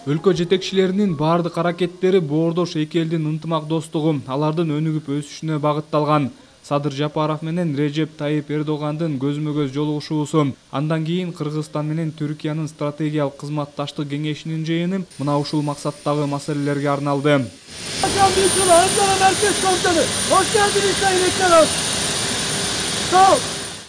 Өлкө жетекчилеринин бардык аракеттери боордош эки элдин ынтымак достугу, алардын өнүгүп өсүшүнө багытталган. Садыр Жапаров менен Режеп Тайип Эрдогандын көзмө-көз жолугушуусу, андан кийин Кыргызстан менен Түркиянын стратегиялык кызматташтык кеңешинин жыйыны мына ушул максаттагы маселелерге арналды.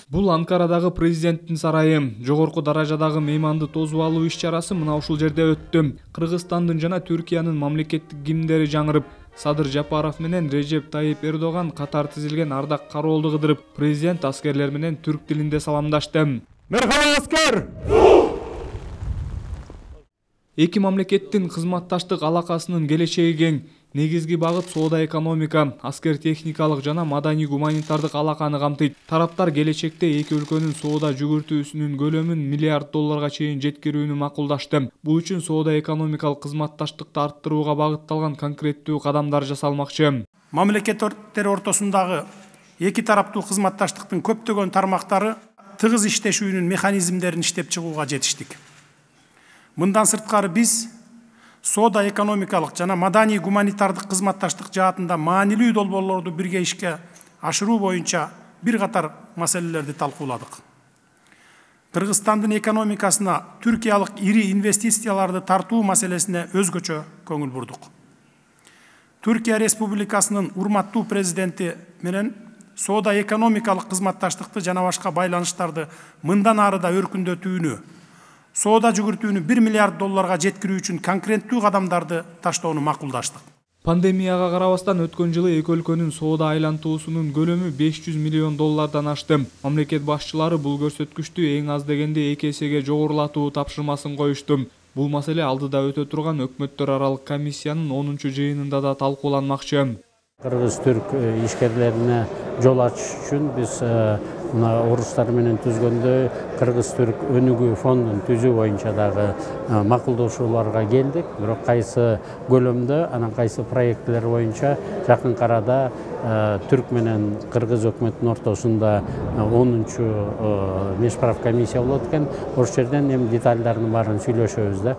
Бул Анкарадагы президенттин сарайы. Жогорку даражадагы мейманды тосуп алуу иш-чарасы мына ушул жерде өттү. Кыргызстандын жана Түркиянын мамлекеттик гимндери жаңырып, Садыр Жапаров менен Режеп Тайип Эрдоган катар тизилген ардак кароолду кыдырып, президент аскерлер менен түрк тилинде саламдашты. Мерхаба аскер! Эки мамлекеттин кызматташтык алакасынын келечеги кең. Негизги багыт соода экономика, аскер техникалык жана маданий гуманитардык алаканы камтыйт. Тараптар келечекте эки өлкөнүн соода жүгүртүүсүнүн көлөмүн миллиард долларга чейин жеткирүүнү макулдашты. Бул үчүн соода экономикалык кызматташтыкты арттырууга багытталган конкреттүү кадамдар жасалмакчы. Мамлекеттер ортосундагы эки тараптуу кызматташтыктын көптөгөн тармактары тыгыз иштешүүнүн механизмдерин иштеп чыгууга жетиштик. Мындан сырткары биз соода экономикалык жана маданий гуманитардык кызматташтык жаатында маанилүү долбоорлорду бирге ишке ашыруу боюнча бир катар маселелерди талкууладык. Кыргызстандын экономикасына түркиялык ири инвестицияларды тартуу маселесине өзгөчө көңүл бурдук. Түркия Республикасынын урматтуу президенти менен соода экономикалык кызматташтыкты жана башка байланыштарды мындан ары да өркүндөтүүнү, соода жүгүртүүнү 1 миллиард долларга жеткирүү үчүн конкреттүү кадамдарды таштоону макулдаштык. Пандемияга карабастан өткөн жылы эки өлкөнүн соода айлантуусунун көлөмү 500 миллион доллардан ашты. Мамлекет башчылары бул көрсөткүчтү эң аз дегенде 2 эсеге жогорулатуу тапшырмасын коюшту. Бул маселе алдыда өтө турган өкмөттөр аралык комиссиянын 10-чу жыйынында да талкууланмакчы. Кыргыз-түрк ишкерлерине жол ачыш үчүн биз орустар менен түзгөндө Кыргыз-түрк өнүгүү фондун түзүү боюнча дагы макулдашууларга келдик. Бирок кайсы көлөмдө, анан кайсы проекттер боюнча жакын арада түрк менен кыргыз өкмөтүнүн ортосунда 10-чу мешправ комиссия болот экен. Ошол жерден эми детальдарын баарын сүйлөшөбүз да.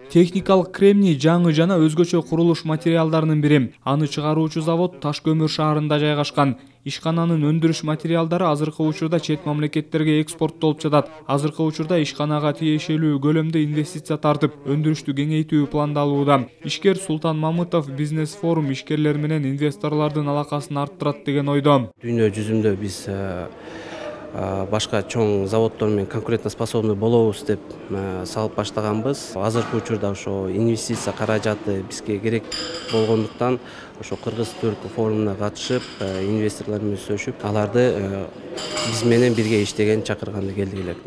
Техникалык кремний жаңы жана өзгөчө курулуш материалдарынын бири. Аны чыгаруучу завод Таш көмүр шаарында жайгашкан. Ишкананын өндүрүш материалдары азыркы учурда чет мамлекеттерге экспорттолуп жатат. Азыркы учурда ишканага тиешелүү көлөмдө инвестиция тартып, өндүрүштү кеңейтүү пландалууда. Ишкер Султан Мамытов бизнес форум ишкерлер менен инвесторлордун алакасын арттырат деген ойдо. Дүйнө жүзүндө биз башка чоң заводдор менен конкурентно способный болобуз деп салып баштаганбыз. Азыркы учурда ошо инвестиция каражаты бизге керек болгондуктан ошо Кыргыз-түрк форумуна катышып, инвесторлор менен сүйлөшүп, аларды биз менен бирге иштеген чакырганда келдик элек.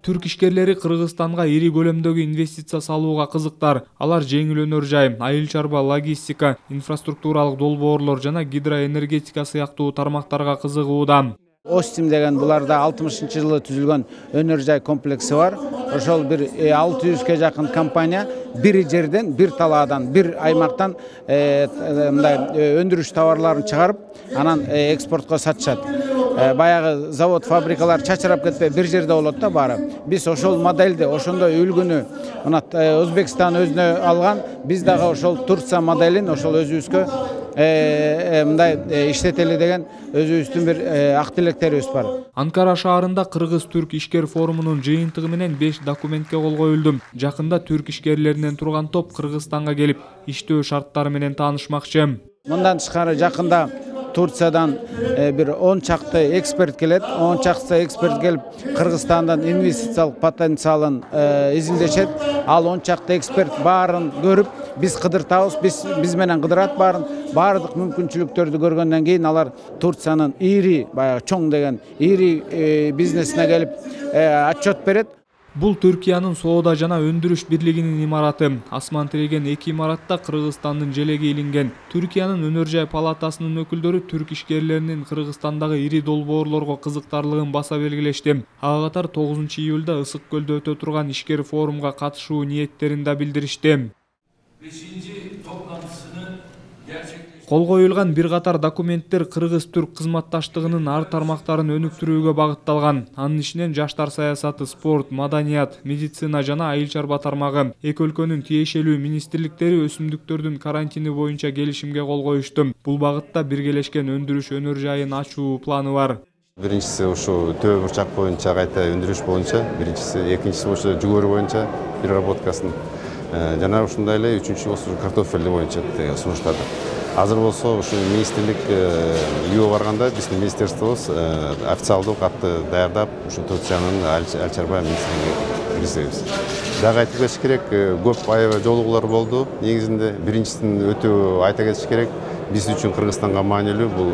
Түрк ишкерлери Кыргызстанга ири көлөмдөгү инвестиция салууга кызыктар. Алар жеңил өнөр жай, айыл чарба, логистика, инфраструктуралык долбоорлор жана гидроэнергетика сыяктуу тармактарга кызыгууда. Остим деген буларда 60-жылы түзүлгөн өнөр жай комплекси бар. Ошол бир 600ге жакын компания бир жерден, бир талаадан, бир аймактан мындай өндүрүш товарларын чыгарып, анан экспортко сатышат. Баягы завод, фабрикалар чачырап кетпей бир жерде болот да баары. Биз ошол модельди, ошондой үлгүнү мына Өзбекстан өзүнө алган, биз дагы ошол Турция моделин ошол өзүбүзгө мындай иштетели деген өзүбүздүн бир ак тилектерибиз бар. Анкара шаарында Кыргыз-түрк ишкер форумунун жыйынтыгы менен 5 документке кол коюлду. Жакында түрк ишкерлеринен турган топ Кыргызстанга келип, иштөө шарттары менен таанышмакчы. Мындан тышкары жакында Турциядан бир 10 чакты эксперт келет. 10 чакты эксперт келип, Кыргызстандын инвестициялык потенциалын изилдешет. Ал 10 чакты эксперт баарын көрүп, биз кыдыртабыз, биз менен кыдырат баардык мүмкүнчүлүктөрдү көргөндөн кийин алар Турциянын ири, баягы чоң деген ири бизнесине келип отчет берет. Бул Түркиянын соода жана өндүрүш бирлигинин имараты. Асман тиреген эки имаратта Кыргызстандын желеги илинген. Түркиянын өнөр жай палатасынын өкүлдөрү түрк ишкерлеринин Кыргызстандагы ири долбоорлорго кызыктарлыгын баса белгилешти. Ага катар 9-июлда Ысык көлдө өтө турган ишкер форумга катышуу ниеттерин да билдиришти. Кол коюлган бир катар документтер кыргыз-түрк кызматташтыгынын ар тармактарын өнүктүрүүгө багытталган. Анын ичинен жаштар саясаты, спорт, маданият, медицина жана айыл чарба тармагы. Эки өлкөнүн тиешелүү министрликтери өсүмдүктөрдүн карантини боюнча келишимге кол коюшту. Бул багытта биргелешкен өндүрүш өнөр жайын ачуу планы бар. Биринчиси ушу төбө бурчак боюнча кайта өндүрүш боюнча, биринчиси, экинчиси ошо жүгөрү боюнча переработкасын, жана ушундай эле үчүнчү болсо картофель боюнча сунуштады. Азыр болсо ушу министрлик үйгө барганда биздин министерствобуз официалдуу катты даярдап, ушу Турциянын айыл чарба министрлигине киргизебиз. Дагы айтып кетиш керек, көп аябай жолугуулар болду. Негизинде биринчисин өтө айта кетиш керек, биз үчүн Кыргызстанга маанилүү бул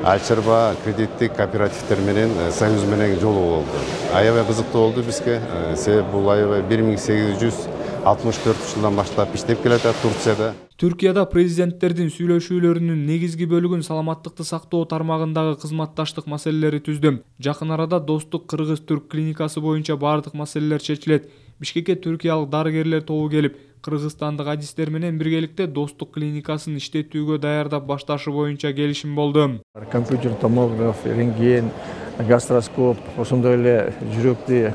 айыл чарба кредиттик кооперативдер менен союз менен жолугуу болду. Аябай кызыктуу болду бизге, себеби бул аябай 1864 жылдан баштап иштеп келатат Турцияда. Түркияда президенттердин сүйлөшүүлөрүнүн негизги бөлүгүн саламаттыкты сактоо тармагындагы кызматташтык маселелери түздү. Жакын арада достук кыргыз-түрк клиникасы боюнча бардык маселелер чечилет. Бишкекке түркиялык дарыгерлер тобу келип, кыргызстандык адистер менен биргеликте достук клиникасын иштетүүгө даярдап башташы боюнча келишим болду. Компьютер томограф, рентген, гастроскоп, ошондой эле жүрөктү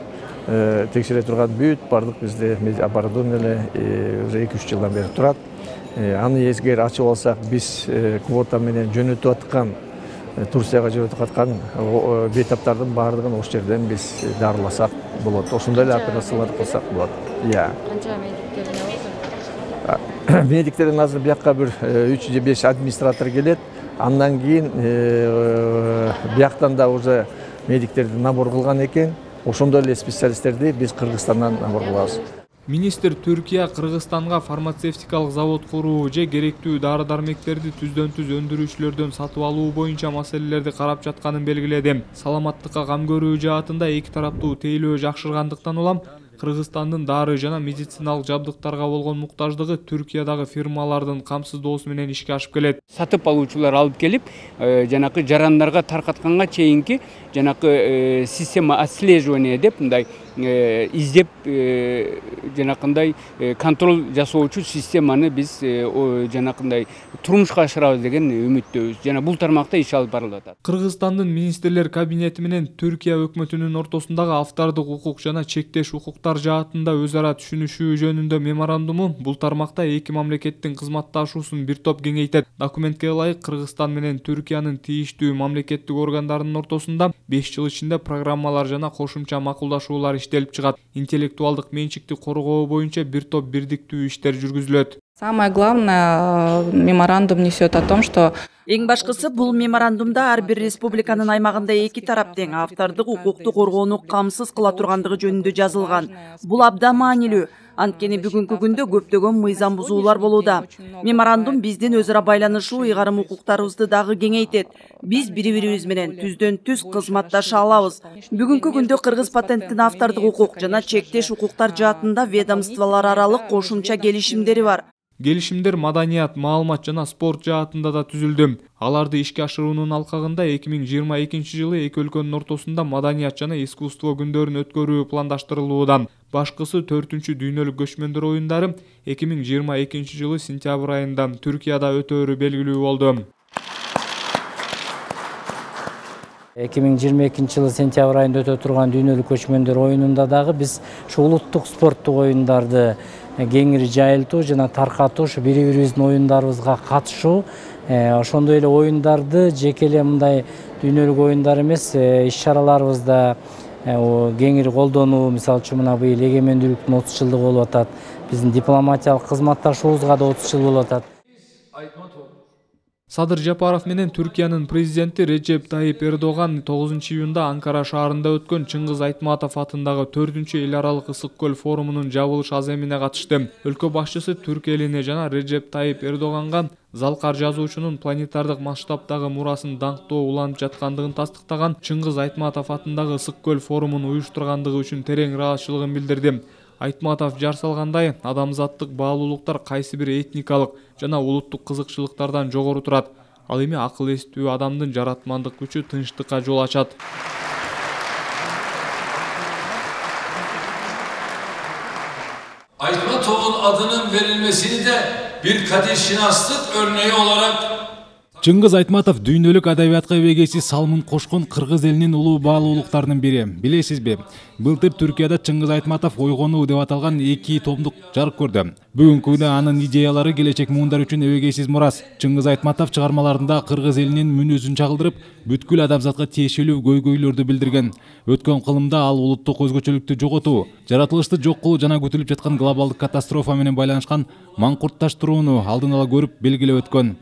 текшере турган бүт бардык бизде оборудование уже 2-3 жылдан бери турат. Аны эгер ачып алсак, биз квота менен жөнөтүп аткан, Турцияга жөнөтүп аткан бейтаптардын баардыгын ошол жерден биз дарыласак болот. Ошондой эле операциялар кылсак болот. Канча медиктер болот? Медиктерден азыр бияка бир 3 же 5 администратор келет. Андан кийин бияктан да уже медиктерди набор кылган экен. Ошондой эле специалисттерди биз Кыргызстандан набор кылабыз. Министр Түркия Кыргызстанга фармацевтикалык завод куруу же керектүү дары-дармектерди түздөн-түз өндүрүүчүлөрдөн сатып алуу боюнча маселелерди карап жатканын белгиледи. Саламаттыкка кам көрүү жаатында эки тараптуу тейлөө жакшыргандыктан улам Кыргызстандын дары жана медициналык жабдыктарга болгон муктаждыгы Түркиядагы фирмалардын камсыздоосу менен ишке ашып келет. Сатып алуучулар алып келип, жанакы жарандарга таркатканга чейинки жанакы система отслеживания деп мындай издеп жанакындай контроль жасоочу системаны биз жанакындай турмушка ашырабыз деген үмүттөбүз. Жана бул тармакта иш алып барылып атат. Кыргызстандын министрлер кабинети менен Түркия өкмөтүнүн ортосундагы автордук укук жана чектеш укуктар жаатында өз ара түшүнүшүү жөнүндө меморандуму бул тармакта эки мамлекеттин кызматташуусун бир топ кеңейтет. Документке ылайык Кыргызстан менен Түркиянын тийиштүү мамлекеттик органдарынын ортосунда 5 жыл ичинде программалар жана кошумча макулдашуулар иштелип чыгат. Интеллектуалдык менчикти коргоо боюнча бир топ бирдиктүү иштер жүргүзүлөт. Самое главное, меморандум несет о том, что эң башкысы бул меморандумда ар бир республиканын аймагында эки тарап тең автордук укукту коргоону камсыз кыла тургандыгы жөнүндө жазылган. Бул абдан маанилүү. Анткени бүгүнкү күндө көптөгөн мыйзам бузуулар болууда. Меморандум биздин өз ара байланышуу ыйгарым укуктарыбызды дагы кеңейтет. Биз бири-бирибиз менен түздөн-түз кызматташа алабыз. Бүгүнкү күндө кыргыз патенттин автордук укук жана чектеш укуктар жаатында ведомстволор аралык кошумча келишимдери бар. Келишимдер маданият, маалымат жана спорт жаатында да түзүлдү. Аларды ишке ашыруунун алкагында 2022 жылы эки өлкөнүн ортосунда маданият жана искусство күндөрүн өткөрүү пландаштырылууда. Башкысы 4-чү дүйнөлүк көчмөндөр оюндары 2022 жылы сентябрь айында Түркияда өтөөрү белгилүү болду. 2022 жылы сентябрь айында өтө турган дүйнөлүк көчмөндөр оюнунда дагы биз ушу улуттук спорттук оюндарды кеңири жайылтуу жана таркатуу, ушу бири-бирибиздин оюндарыбызга катышуу, ошондой эле оюндарды жеке эле мындай дүйнөлүк оюндар эмес, иш-чараларыбызда кеңири колдонуу, мисалы үчүн мына быйыл эгемендүүлүктүн 30 жылдыгы болуп атат. Биздин дипломатиялык кызматташуубузга да 30 жыл болуп атат. Садыр Жапаров менен Түркиянын президенти Реджеп Тайип Эрдоган 9-июнда Анкара шаарында өткөн Чыңгыз Айтматов атындагы 4-чү эл аралык ысык көл форумунун жабылыш аземине катышты. Өлкө башчысы Түрк элине жана Реджеп Тайип Эрдоганга Залкар жазуучунун планетардык масштабдагы мурасын даңктоо уланып жаткандыгын тастыктаган Чыңгыз Айтматов атындагы ысык көл форумун уюштургандыгы үчүн терең ыраазычылыгын билдирди. Айтматов жар салгандай, адамзаттык баалуулуктар кайсы бир этникалык жана улуттук кызыкчылыктардан жогору турат. Ал эми акыл эстүү адамдын жаратмандык күчү тынчтыкка жол ачат. Айтматов'un adının verilmesini de bir katilşinaslık örneği olarak Чыңгыз Айтматов дүйнөлүк адабиятка эбегеси салмын кошкон кыргыз элинин улуу баалуулуктарынын бири. Билесизби? Былтыр Түркияда Чыңгыз Айтматов ойгонуу деп аталган 2 томдук жарык көрдү. Бүгүнкү күндө анын идеялары келечек муундар үчүн эбегейсиз мурас. Чыңгыз Айтматов чыгармаларында кыргыз элинин мүнөзүн чагылдырып, бүткүл адамзатка тиешелүү көйгөйлөрдү билдирген. Өткөн кылымда ал улуттук өзгөчөлүктү жоготуу, жаратылышты жок кылуу жана күтүлүп жаткан глобалдык катастрофа менен байланышкан маңкуртташтырууну алдын ала көрүп белгилеп өткөн.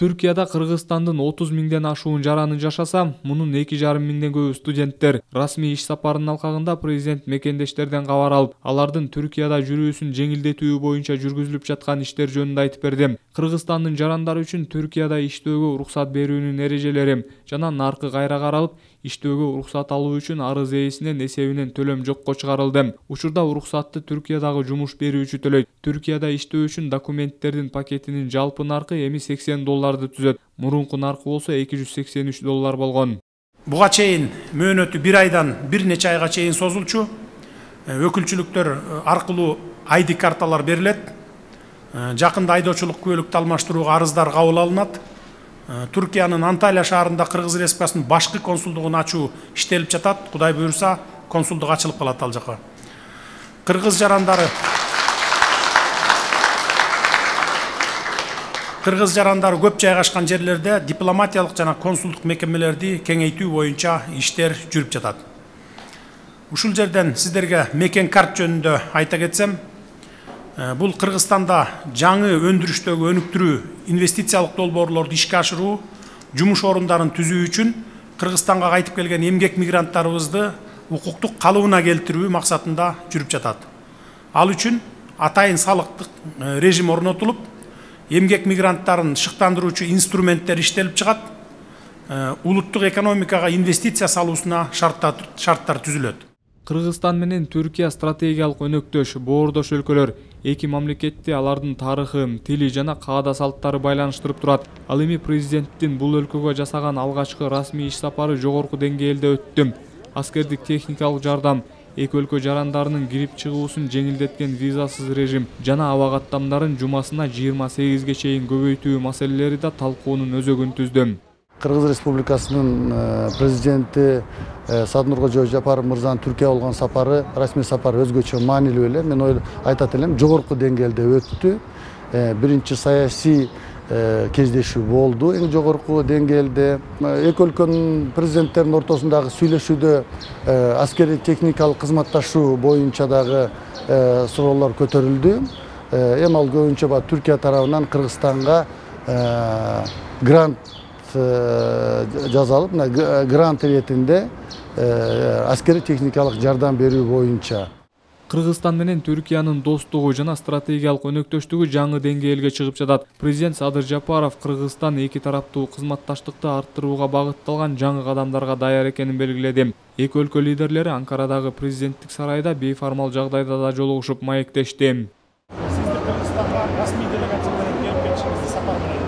Түркияда Кыргызстандын 30 миңден ашуун жараны жашаса, мунун 2,5 миңден көбү студенттер. Расмий иш сапарынын алкагында президент мекендештерден кабар алып, алардын Түркияда жүрүүсүн жеңилдетүү боюнча жүргүзүлүп жаткан иштер жөнүндө айтып берди. Кыргызстандын жарандары үчүн Түркияда иштөөгө уруксат берүүнүн эрежелери жана наркы кайра каралып, иштөөгө уруксат алуу үчүн арыз ээсинин эсебинен төлөм жокко чыгарылды. Учурда уруксатты Түркиядагы жумуш берүүчү төлөйт. Түркияда иштөө үчүн документтердин пакетинин жалпы наркы эми $80 түзөт. Мурунку наркы болсо $283 болгон. Буга чейин мөөнөтү 1 айдан бир нече айга чейин созулчу. Өкүлчүлүктөр аркылуу ID карталар берилет. Жакында айдоочулук күбөлүктү алмаштырууга арыздар кабыл алынат. Түркиянын Анталия шаарында Кыргыз Республикасынын башкы консулдугун ачуу иштелип жатат. Кудай буйрса, консулдук ачылып калат ал жака. Кыргыз жарандары көп жайгашкан жерлерде дипломатиялык жана консулдук мекемелерди кеңейтүү боюнча иштер жүрүп жатат. Ушул жерден сиздерге мекен карт жөнүндө айта кетсем, бул Кыргызстанда жаңы өндүрүштөгү өнүктүрүү, инвестициялык долбоорлорду ишке ашыруу, жумуш орундарын түзүү үчүн Кыргызстанга кайтып келген эмгек мигранттарыбызды укуктук калыбына келтирүү максатында жүрүп жатат. Ал үчүн атайын салыктык режим орнотулуп, эмгек мигранттарын шыктандыруучу инструменттер иштелип чыгат. Улуттук экономикага инвестиция салуусуна шарттар түзүлөт. Кыргызстан менен Түркия стратегиялык өнөктөш, боордош өлкөлөр. Эки мамлекетти алардын тарыхы, тили жана каада салттары байланыштырып турат. Ал эми президенттин бул өлкөгө жасаган алгачкы расмий иш сапары жогорку деңгээлде өттү. Аскердик техникалык жардам, эки өлкө жарандарынын кирип чыгуусун жеңилдеткен визасыз режим жана аба каттамдарын жумасына 28ге чейин көбөйтүү маселелери да талкуунун өзөгүн түздү. Кыргыз Республикасынын президенти Саднуркожо Жапаров мырзанын Түркия болгон сапары, расмий сапары өзгөчө маанилүү эле. Мен айтат элем, жогорку деңгээлде өттү. Биринчи саясий кездешүү болду эң жогорку деңгээлде. Эки өлкөнүн президенттеринин ортосундагы сүйлөшүүдө аскерий техникалык кызматташуу боюнча дагы суроолор көтөрүлдү. Эми ал көбүнчө Түркия тарабынан Кыргызстанга грант жазалып, грант иретинде аскерий техникалык жардам берүү боюнча. Кыргызстан менен Түркиянын достугу жана стратегиялык өнөктөштүгү жаңы деңгээлге чыгып жатат. Президент Садыр Жапаров Кыргызстан эки тараптуу кызматташтыкты арттырууга багытталган жаңы кадамдарга даяр экенин белгиледи. Эки өлкө лидерлери Анкарадагы президенттик сарайда бейформал жагдайда да жолугушуп маектешти. Сиздер Кыргызстанга расмий делегация менен келип кетишиңизди сапар менен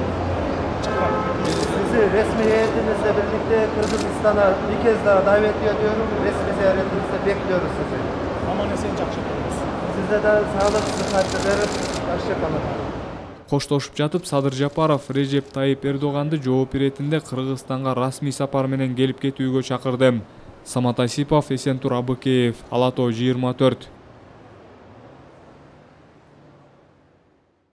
resmi heyetimizle birlikte Kırgızistan'a bir kez daha davet ediyorum. Resmi ziyaretimizde bekliyoruz sizi. Aman esen жақсы болыңыз. Size de sağlık, sıhhat dileriz. Hoşça kalın. Коштошуп жатып, Садыр Жапаров Режеп Тайип Эрдоганды жооп иретинде Кыргызстанга расмий сапар менен келип кетүүгө чакырды. Самат Асипов, Эсентур Абыкеев, Ала Тоо 24.